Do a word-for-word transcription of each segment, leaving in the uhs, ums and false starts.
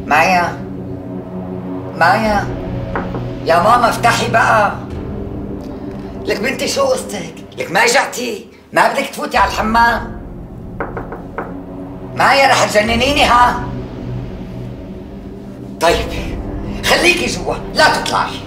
مايا مايا يا ماما افتحي بقى. لك بنتي شو قصتك؟ لك ما جعتي؟ ما بدك تفوتي على الحمام؟ مايا رح تجننيني ها؟ طيب خليكي جوا لا تطلعي.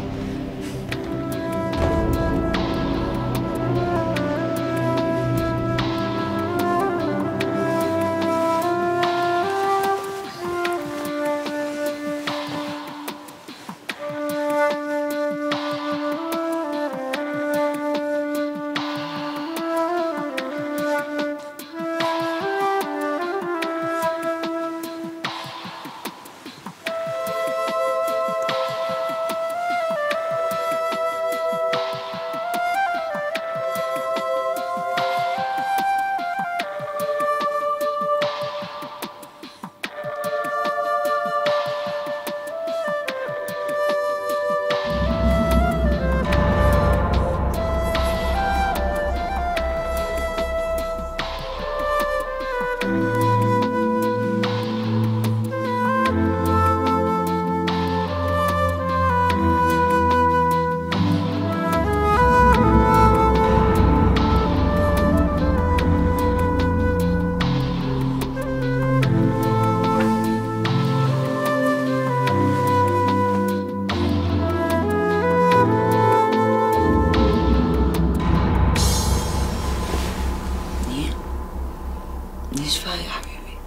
ليش فايق يا حبيبي؟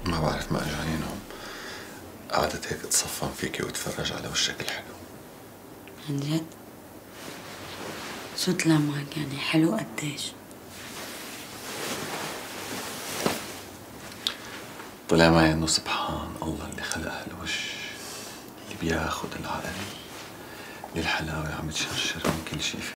ما بعرف، ما اجاني نوم. قعدت هيك اتصفن فيكي واتفرج على وشك الحلو. عن جد؟ شو طلع معك يعني حلو قديش؟ طلع معي انه سبحان الله اللي خلق هالوش اللي بياخد العقل، اللي الحلاوة عم تشرشر من كل شي فيه.